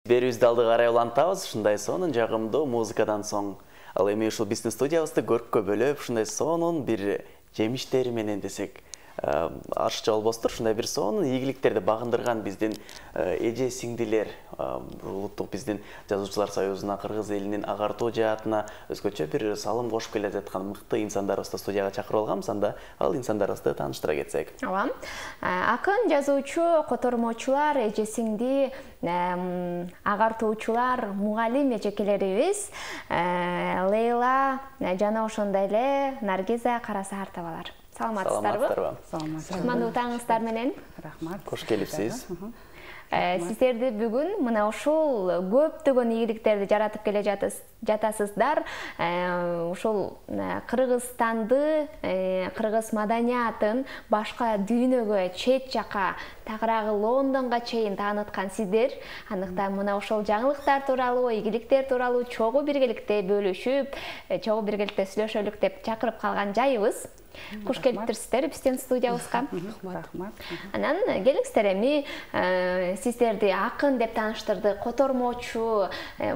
Берүүбүздү алдыга карай улантабыз. Ушундай сонун жагымдуу музыкадан соң ал эми ушул биздин студиябызды көрккө бөлөп, ушундай сонун бир жемиштери менен десек арча болбостур. Ушундай бир сонун ийгиликтерди багындырган биздин эже сиңдилер, улуттук биздин жазуучулар союзуна, кыргыз элинин агартуу жаатына өзгөчө бир салым кошуп келе жаткан мыкты инсандарыбызды студияга чакырып алганбыз. Анда ал инсандарыбызды тааныштыра кетсек. Ооба. Акын, жазуучу, котормочулар, эже сиңди, агартуучулар, мугалим эжекелерибиз Лейла жана ошондой эле Наргиза Карасаартовалар. Саламатсыздарбы? Саламатсыздарбы. Кутмандуу таңыңыздар менен. Рахмат. Кош келипсиз. Сиздерди бүгүн мына ушул көптөгөн ийгиликтерди жаратып келе жатасыздар. Ушул Кыргызстанды, кыргыз маданиятын башка дүйнөгө, чет жака, тагыраагы Лондонго чейин тааныткан сиздер. Андыктан мына ошол жаңылыктар тууралуу, ийгиликтер тууралуу чогуу биргеликте бөлүшүп, чогуу биргеликте сүйлөшөлүк деп чакырып калган жайыбыз. Куш келиптирсиздер биздин студиябызга. Рахмат. Анан келиңиздер, эми сиздерди акын деп тааныштырды, котормочу,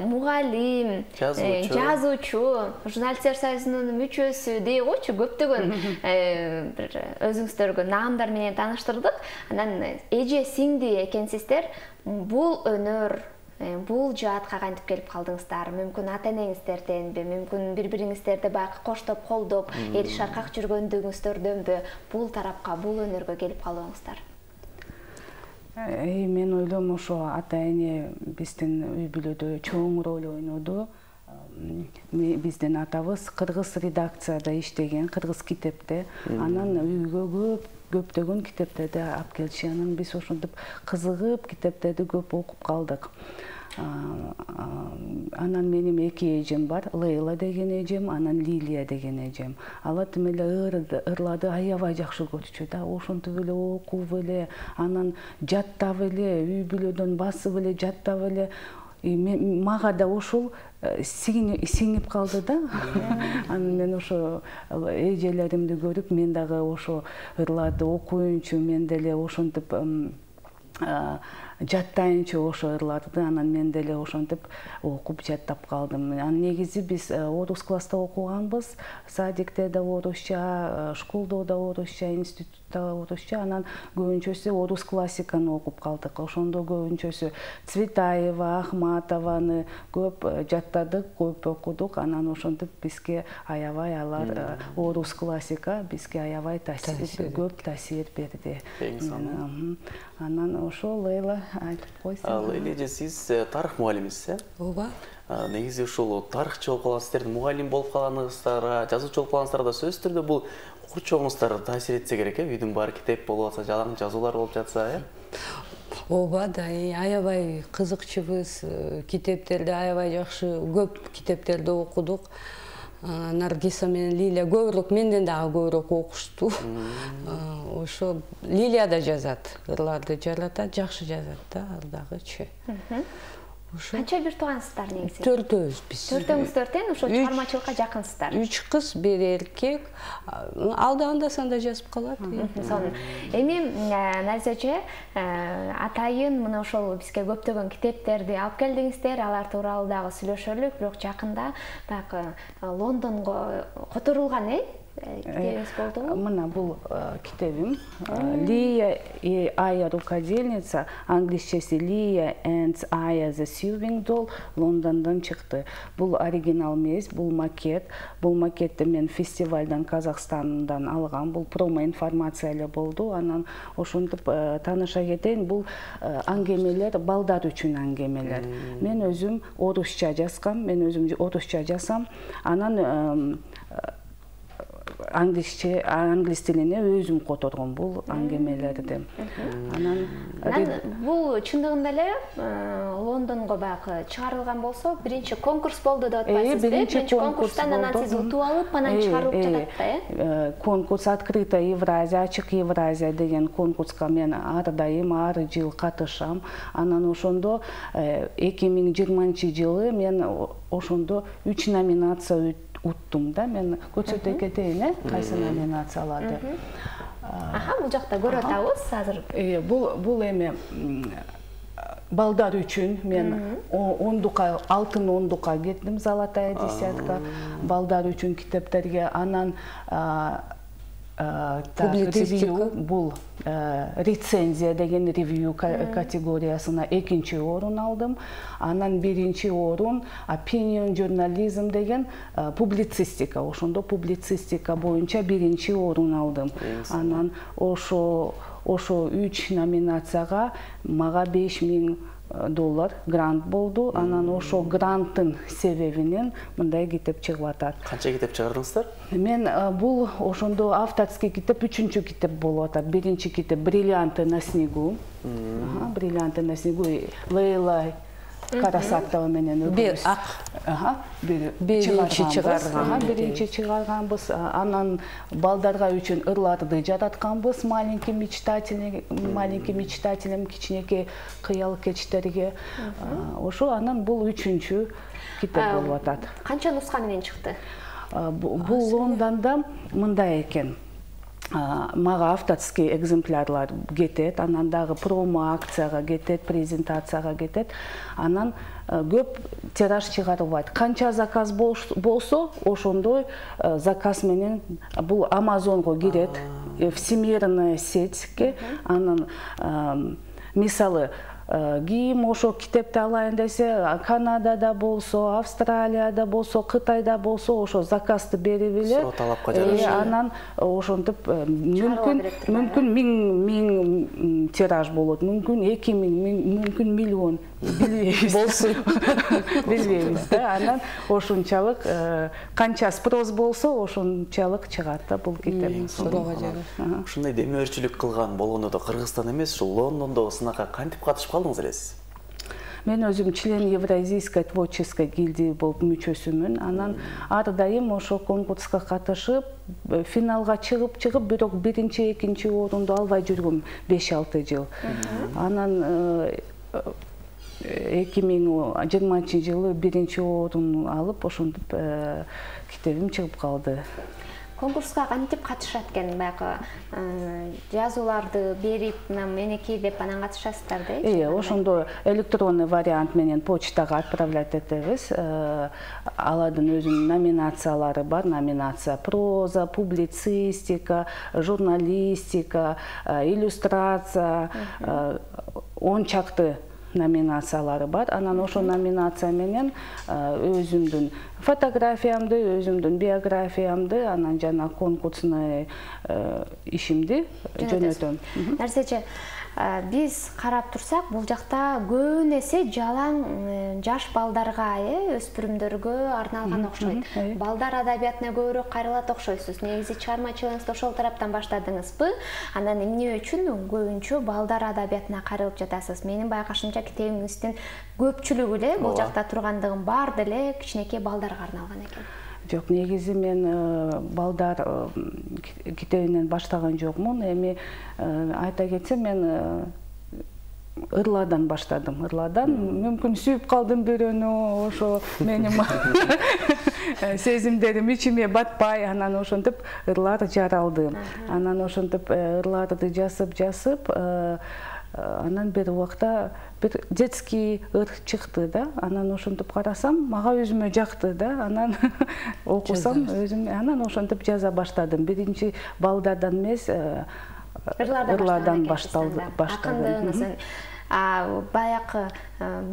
мугалим, жазуучу, журналисттер союзунун мүчөсү дей койчу, көптөгөн бир өзүңүздөргө наамдар менен тааныштырдык. Анан эже сиңди экенсиздер, бул өнөр, бул жаатка кантип келип калдыңыздар? Мүмкүн ата-энеңиздерденби, мүмкүн бири-бириңиздерди баягы коштоп, колдоп, эл шаркак жүргөндүгүңүздөрдөнбү бул тарапка, бул өнөргө келип калдыңыздар? Мен ойлойм, ошо ата-эне биздин үй бүлөдө чоң роль ойноду. Биздин атабыз кыргыз редакцияда иштеген, кыргыз китепте. Анан үйгө көптөгөн китептерди алып келчү. Анан биз ошентип кызыгып китептерди көп окуп калдык. Анан менин эки эжем бар, Лейла деген эжем, анан Лилия деген эжем. Алар тим эле ырларды аябай жакшы көрчү да, ошентип эле окуп эле, анан жаттап эле, үй бүлөдөн басып эле жаттап эле. Мага да ошол сиңип калды да. Анан мен ошо эжелеримди көрүп, мен дагы ошо ырларды окуйнчу, мен деле ошентип жаттайынчы ошо ырларды. Анан мен деле ошентип окуп жаттап калдым. Анан негизи биз орус класста окуганбыз, садикте да орусча, школдо да орусча, институтта орусча. Анан көбүнчөсү орус классиканы окуп калдык. Ошондо көбүнчөсү Цветаева, Ахматованы көп жаттадык, көп окудук. Анан ошентип бизге аябай алар орус классика бизге аябай көп таасир берди. Анан ошо Лейла айтып койсун. Ал эже сиз тарых мугалимисиз, Ооба. Негизи ушул тарыхчы болуп калган сиздердин мугалим болуп калганыңыздарга, жазуучу болуп калганыңыздарга сөзсүз түрдө бул курчоңуздар таасир этсе керек, үйдүн баары китеп болуп атса, жалаң жазуулар болуп жатса, Ооба да, аябай кызыкчубуз, китептерди аябай жакшы, көп китептерди окудук. Наргиза менен Лилия көбүрөөк менден дагы көбүрөөк окушту. Ошо Лилия да жазат, ырларды жаратат, жакшы жазат да, ал дагычы. Канча бир туугансыздар негизи? Төртөөбүз биз. Төртөөңүздөр тең ошо чыгармачылыкка жакынсыздар. 3 кыз, 1 эркек. Ал да анда-санда жазып калат. Эми Наргиза эже, атайын мына ошол бизге көптөгөн китептерди алып келдиңиздер, алар тууралуу дагы сүйлөшөлүк, бирок жакында баягы Лондонго которулган, китебиңиз болдубу? Мына бул китебим. Лия и Ая рукодельница, англисчеси Лия and Aya the Sewing Doll, Лондондон чыкты. Бул оригинал эмес, бул макет. Бул макетти мен фестивалдан Казакстандан алгам. Бул промо информация эле болду. Анан ошентип тааныша кетейин, бул аңгемелер, балдар үчүн аңгемелер. Мен өзүм орусча жазгам, мен өзүм орусча жазам. Анан англис тилине өзүм которгом бул аңгемелерди. Анан бул чындыгында эле Лондонго баягы чыгарылган болсо, биринчи конкурс болду деп атпайсызбы? Биринчи конкурстан анан сиз утуп алып, анан чыгарылып жатат да, Конкурс Открытая Евразия, Ачык Евразия деген конкурска мен ар дайым, ар жыл катышам. Анан ошондо 2020-жылы мен ошондо 3 номинация уттум да, мен көрсөтө кетейин, кайсы номинацияларды. Бул жакта көрүп атабыз азыр. Бул эми балдар үчүн мен алтын ондукка кеттим, золотая десятка. Балдар үчүн китептерге, анан ревью, бул рецензия деген ревью категориясына 2-чи орун алдым. Анан 1-чи орун opinion journalism деген публицистика. Ошондо публицистика боюнча 1-чи орун алдым. Анан ошо 3 номинацияга мага $5000 грант болду. Анан ошо гранттын себебинен мындай китеп чыгып атат. Канча китеп чыгардыңыздар? Мен бул ошондо авторский китеп 3-чү китеп болуп атат. 1-чи китеп «Бриллианты на снегу». «Бриллианты на снегу» Лейла Карасатова менен бир биринчи чыгарганбыз. Анан балдарга үчүн ырларды жаратканбыз. Маленький мечтателем, кичинекей кыял кечтерге. Ошо анан бул 3-чү китеп болуп атат. Канча нуска менен чыкты? Бул Лондондо мындай экен. Мага авторский экземплярлар кетет, анан дагы промо акцияга кетет, презентацияга кетет. Анан көп тираж чыгарылбайт. Канча заказ болсо, ошондой заказ менен бул Амазонго кирет, всемирная сетьке. Анан мисалы кийим ошо китепти алайын десе, Канадада болсо, Австралияда болсо, Кытайда болсо, ошо заказды берип эле. Талапка жараша. Анан ошентип мүмкүн 1000 тираж болот, мүмкүн 2000, мүмкүн миллион. Болсун. Билбейбиз да. Анан ошунчалык канча спрос болсо, ошунчалык чыгат да бул китеп. Ушундай демөөрчүлүк кылган болгондо Кыргызстан эмес, ушул Лондондо сынакка кантип катышып калдыңыз элесиз? Мен өзүм член Евразийской творческой гильдии болуп мүчөсүмүн. Анан ар дайым ошо конкурска катышып, финалга чыгып, бирок 1-чи, 2-чи орунду албай жүргөм 5-6 жыл. Анан 2020-жылы 1-чи орун алып, ошентип китебим чыгып калды. Конкурска кантип катышат экен? Баягы жазууларды берип, меники деп анан катышасыздар да? Ошондо электронный вариант менен почтага отправлять этебиз. Аладын өзүнүн номинациялары бар. Номинация проза, публицистика, журналистика, иллюстрация, 10 чакты номинациялары бар. Анан ошо номинация менен өзүмдүн фотографиямды, өзүмдүн биографиямды, анан жана конкурсный ишимди жөнөтөм. Нерсечи, биз карап турсак, бул жакта көбүн эсе жалаң жаш балдарга, өспүрүмдөргө арналган окшойт. Балдар адабиятына көбүрөөк кайрылат окшойсуз. Негизи чыгармачылыгыңызды ошол тараптан баштадыңызбы? Анан эмне үчүн көбүнчө балдар адабиятына кайрылып жатасыз? Менин байкашымча китебиңиздин көпчүлүгү эле бул жакта тургандыгын бар деле кичинекей балдарга арналган экен. Жок, негизи мен балдар китебинен баштаган жокмун. Эми айта кетсем, мен ырладан баштадым. Ырладан мүмкүн сүйүп калдым бирөөнү, ошо менин сезимдерим ичиме батпай, анан ошентип ырлар жаралды. Анан ошентип ырларды жасып, анан бир убакта бир детский ыр чыкты да. Анан ошентип карасам, мага өзүмө жакты да. Анан окусам өзүм, анан ошентип жаза баштадым. Биринчи балдардан эмес, ырлардан башталды. Баякы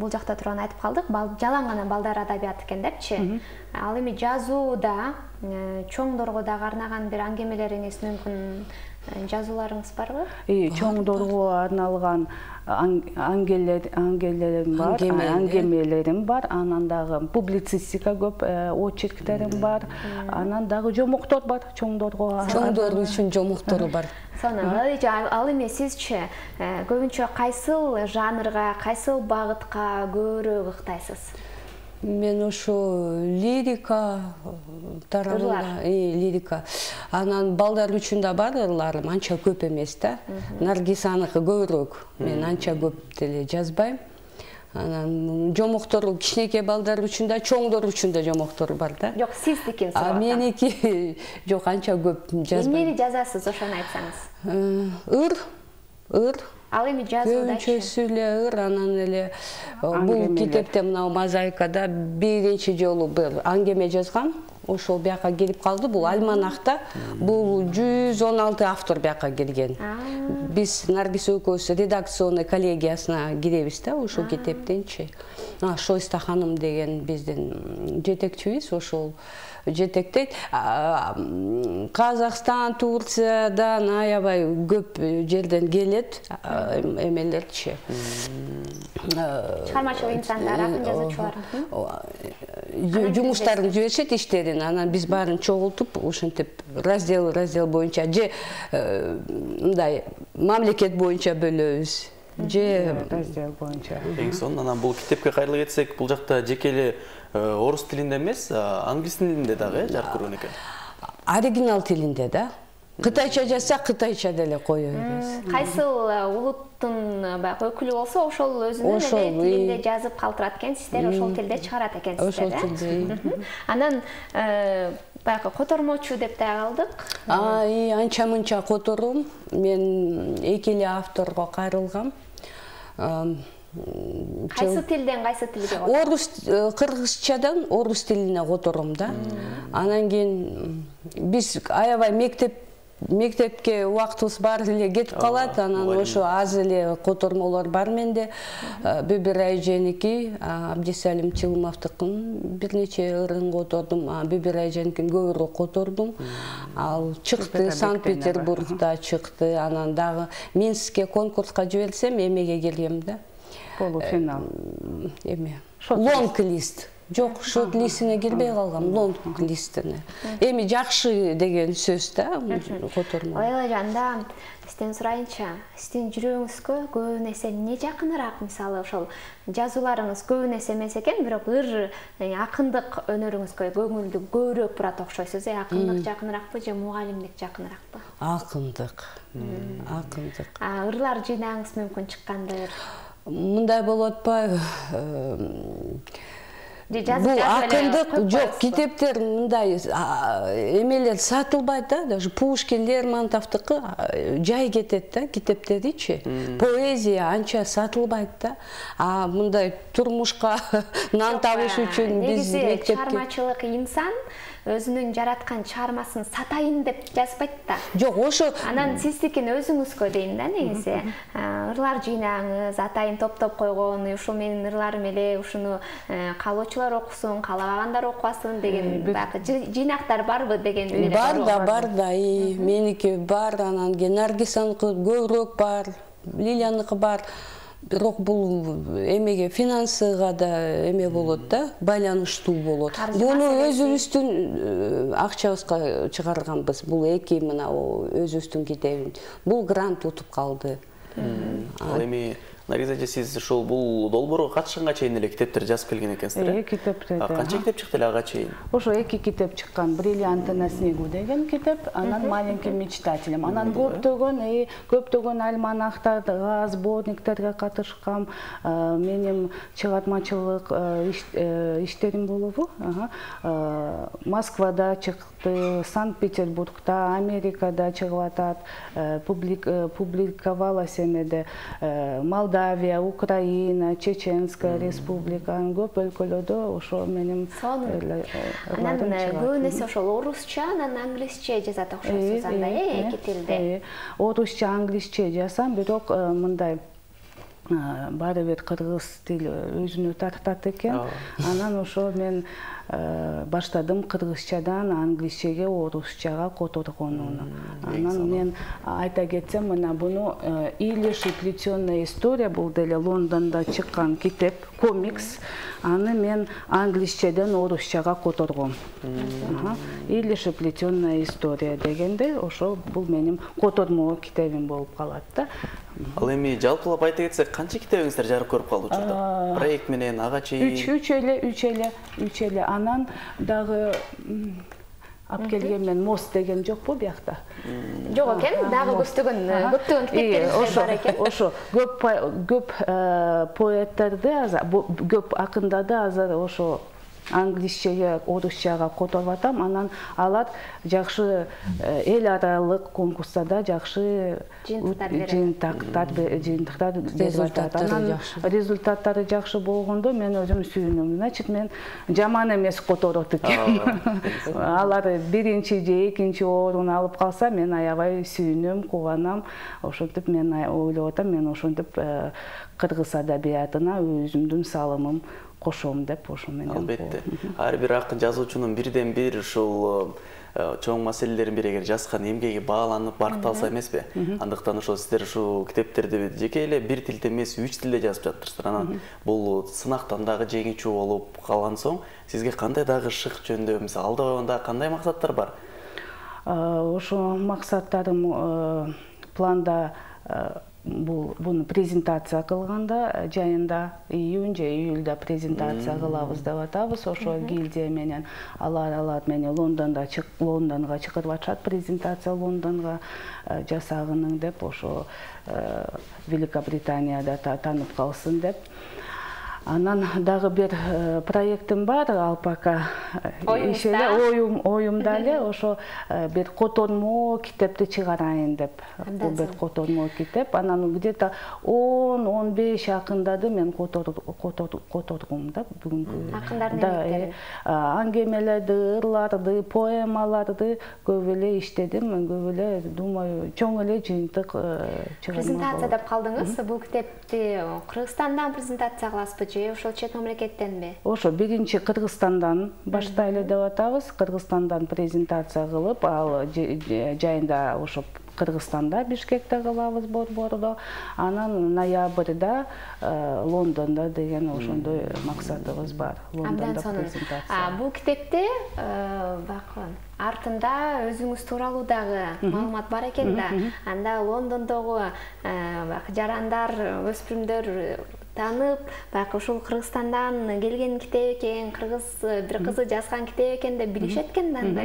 бул жакта турган айтып калдык, жалаң гана балдар адабияты экен депчи. Ал эми жазууда чоңдорго дагы арнаган бир аңгемелериңиз, мүмкүн жазууларыңыз барбы? Чоңдорго арналган аңгемелерим бар, анан дагы публицистика көп очерктерим бар, анан дагы жомоктор бар чоңдорго. Чоңдор үчүн жомоктору бар. Ал эми сизчи көбүнчө кайсыл жанрга, кайсыл багытка көбүрөөк ыктайсыз? Мен ошо лирика тарабында, лирика. Анан балдар үчүн да бар ырларым, анча көп эмес да. Наргисаныкы көбүрөөк. Мен анча көп деле жазбайм. Анан жомоктор кичинекей балдар үчүн да, чоңдор үчүн да жомоктор бар да. Жок, сиздикин сурап. Меники жок, анча көп жазбайм. Эмнени жазасыз, ошону айтсаңыз? Ыр, Ал эми жазуудачы? Көбүнчөсү эле ыр, анан эле бул китепте мына мозаикада биринчи жолу бир аңгеме жазгам. Ошол бияка келип калды. Бул альманахта. Бул 116 автор бияка келген. Биз Наргиз экөөбүз редакционный коллегиясына киребиз да, ошол китептенчи. Шойста ханым деген биздин жетекчибиз, ошол жетектейт. Казакстан, Турциядан аябай көп жерден келет эмелерчи. Чыгармачылык инсандар, акын жазуучулар. Жумуштарын жиберишет, иштерин. Анан биз баарын чогултуп, ошентип раздел боюнча же мындай мамлекет боюнча бөлөбүз. Же раздел боюнча. Эң сонун анан бул китепке кайрыла кетсек, бул жакта жеке эле орус тилинде эмес, англис тилинде дагы жарык көргөн экен. Оригинал тилинде да. Кытайча жазса, кытайча деле кое беребиз. Кайсыл улуттун баягы өкүлү болсо, ошол өзүнүн тилинде жазып калтырат экен, сиздер ошол тилде чыгарат экенсиздер. Ошол тилде. Анан баягы котормочу деп да алдык. Анча мынча котором. Мен эки эле авторго кайрылгам. Кайсы тилден кайсы тилге? Орус, кыргызчадан орус тилине котором да. Анан кийин биз аябай мектепке убактыбыз баары эле кетип калат. Анан ошо аз эле котормолор бар менде. Бибирай Женики, Абдисалим Чылымовдукун бир нече ырын котордум. Бибирай Женикин көбүрөөк котордум. Ал чыкты, Санкт-Петербургда чыкты. Анан дагы Минскке конкурска жиберсем, эмеге келгем да. Полуфинал. Эме. Лонг-лист. Жок, шорт-листине кирбей калгам, лонг-листине. Эми жакшы деген сөз да, котормо. Ойлоганда, сизден сурайынча, сиздин жүрөгүңүзгө көбүн эсе эмне жакыныраак? Мисалы, ошол жазууларыңыз көбүн эсе эмес экен, бирок ыр акындык өнөрүңүзгө көңүлдү көбүрөөк бурат окшойсуз. Акындык жакыныраакпы же мугалимдик жакыныраакпы? Акындык. Акындык. Ырлар жыйнагыңыз мүмкүн чыккандыр. Мындай болот атпайбы? Бул акындык жок, китептер мындай эмелер сатылбайт да, даже Пушкин, Лермонтовдуку жай кетет да, китептеричи. Поэзия анча сатылбайт да. Мындай турмушка нан табыш үчүн биз мектепке чыгармачылык инсан өзүнүн жараткан чыгармасын сатайын деп жазбайт да. Жок, ошо анан сиздикин өзүңүзгө дейм да, негизи. Ырлар жыйнагыңыз, атайын топтоп койгон, ушул менин ырларым эле, ушуну каалоочулар окусун, каалабагандар окубасын деген баягы жыйнактар барбы деген ой. Бар да, меники бар, анан Наргисаныкы көбүрөөк бар, Лилияныкы бар. Бирок бул эмеге финансыга да эме болот да, байланыштуу болот. Буну өзүбүздүн акчабызга чыгарганбыз. Бул эки мына өзүбүздүн китебин. Бул грант утуп калды. Ал эми Наргиз эже, сиз ушул бул долбоорго катышканга чейин эле китептер жазып келген экенсиздер. Китептер. Канча китеп чыкты эле ага чейин? Ошо эки китеп чыккан. Бриллианты на снегу деген китеп, анан Маленьким мечтателем. Анан көптөгөн альманахтарга, сборниктерге катышкам. Менин чыгармачылык иштерим болобу. Москвада чыкты, Санкт-Петербургда, Америкада чыгып атат. Публиковалась эмеде Молдавия, Украина, Чеченская республика, көп өлкөлөрдө ошо менин анан көбүн эсе ошол орусча, анан англисче жазат окшойсуз анда, эки тилде. Орусча, англисче жазсам, бирок мындай баары бир кыргыз тили өзүнө тартат экен. Анан ошо мен баштадым кыргызчадан англисчеге, орусчага которгонуну. Анан мен айта кетсем, мына буну «Илиш и плетёная история» бул деле Лондондо чыккан китеп, комикс. Аны мен англисчеден орусчага которгом. «Илиш и плетёная история» дегенде, ошо бул менин котормо китебим болуп калат да. Ал эми жалпылап айта кетсек, канча китебиңиздер жарык көрүп калды учурда? Проект менен ага чейин? Үч эле. Анан дагы алып келген мен мост деген жокпу биякта? Жок экен, дагы көптөгөн китептериңиз бар экен. Ошо көп поэттерди, көп акындарды азыр ошо англисчеге, орусчага которуп атам. Анан алар жакшы эл аралык конкурстарда жакшы жыйынтыктар берип атат. Анан результаттары жакшы болгондо мен өзүм сүйүнөм. Значит, мен жаман эмес которот экенмин. Алар биринчи же экинчи орун алып калса, мен аябай сүйүнөм, кубанам. Ошентип мен ойлоп атам, мен ошентип Кыргыз адабиятына өзүмдүн салымым кошом деп ошо менен. Албетте. Ар бир акын жазуучунун бирден бир ушул чоң маселелерин бири эгер жазган эмгеги бааланып баркталса эмеспи? Андыктан ошо сиздер ушул китептерди жеке эле бир тилде эмес, 3 тилде жазып жатырсыздар. Анан бул сынактан дагы жеңүүчү болуп калган соң, сизге кандай дагы шык жөндө, мисалы алда койгондо кандай максаттар бар? Ошо максаттарым планда буну презентация кылганда жайында июнь же июльда презентация кылабыз деп атабыз. Ошо гильдия менен алар мени Лондонга чакырып атышат, презентация Лондонго жасагының деп, ошо Великобританияда таанып калсын деп. Анан дагы бир проектим бар, ал пока оюмда эле, ошо бир котормо китепти чыгарайын деп. Бул бир котормо китеп. Анан где-то 10-15 акындарды мен которгум да бүгүнкү. Акындардын эмгектери. Аңгемелерди, ырларды, поэмаларды көп эле иштедим. Мен көп эле, думаю, чоң эле жыйынтык чыгарма. Презентация деп калдыңыз. Бул китепти Кыргызстандан презентация кыласызбы? Ошол чет мамлекеттенби? Ошо биринчи Кыргызстандан баштайлы деп атабыз. Кыргызстандан презентация кылып, ал жайында ошо Кыргызстанда, Бишкекте кылабыз борбордо. Анан ноябрда Лондондо деген ошондой максатыбыз бар. Лондондо презентация. Бул китепте артында өзүңүз тууралуу дагы маалымат бар экен да. Анда Лондондогу жарандар, өспүрүмдөр танып, ушул Кыргызстандан келген китеп экен, кыргыз бир кызы жазган китеп экен деп билишет экен да анда,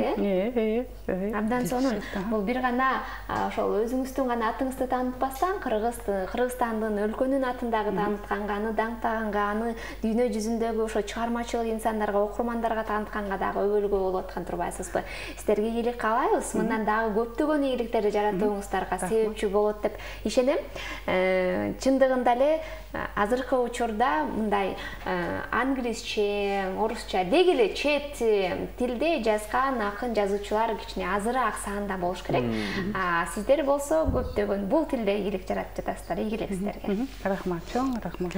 Абдан сонун. Бул бир гана ошол өзүңүздүн гана атыңызды таанытпастан, Кыргызстандын өлкөнүн атын дагы таанытканга, аны даңктаганга, аны дүйнө жүзүндөгү ошо чыгармачыл инсандарга, окурмандарга таанытканга дагы өбөлгө болуп аткан турбайсызбы? Сиздерге ийгилик каалайбыз. Мындан дагы көптөгөн ийгиликтерди жаратууңуздарга себепчи болот деп ишенем. Чындыгында эле азыркы учурда мындай англисче, орусча деги эле чет тилде жазган акын жазуучулар кичине азыраак санда болуш керек. Сиздер болсо көптөгөн бул тилде ийгилик жаратып жатасыздар. Ийгилик сиздерге. Рахмат, чоң рахмат.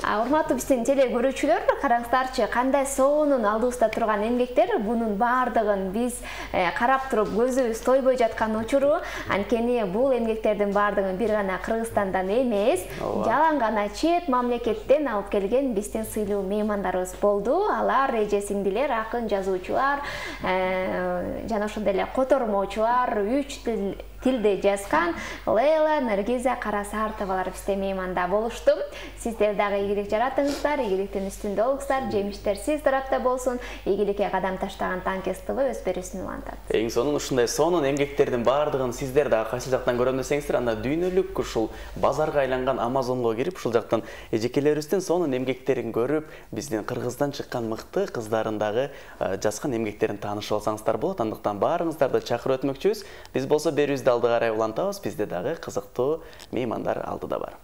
Урматтуу биздин теле көрүүчүлөр, караңыздарчы, кандай сонун алдыбызда турган эмгектер. Бунун баардыгын биз карап туруп көзүбүз тойбой жаткан учуру. Анткени бул эмгектердин баардыгын бир гана Кыргызстандан эмес, жалаң гана чет мамлекеттен алып келген биздин сыйлуу меймандарыбыз болду. Алар эже сиңдилер, акын жазуучулар, жана ошондой эле котормочулар, 3 тилде жазган Лейла, Наргиза Карасартовалар бизде мейманда болушту. Сиздер дагы ийгилик жаратыңыздар, ийгиликтин үстүндө болуңуздар, жемиштер сиз тарапта болсун. Ийгиликке кадам таштаган Танкес ТВ өз берүүсүн улантат. Эң сонун ушундай сонун эмгектердин баардыгын сиздер дагы кайсы жактан көрөм десеңиздер, анда дүйнөлүк ушул базарга айланган Амазонго кирип, ушул жактан эжекелерибиздин сонун эмгектерин көрүп, биздин Кыргыздан чыккан мыкты кыздардын дагы жазган эмгектерин таанышып алсаңыздар болот. Андыктан баарыңыздарды чакырып өтмөкчүбүз. Биз болсо берүүбүздү алды карай улантабыз. Бизде дагы кызыктуу меймандар алдыда бар.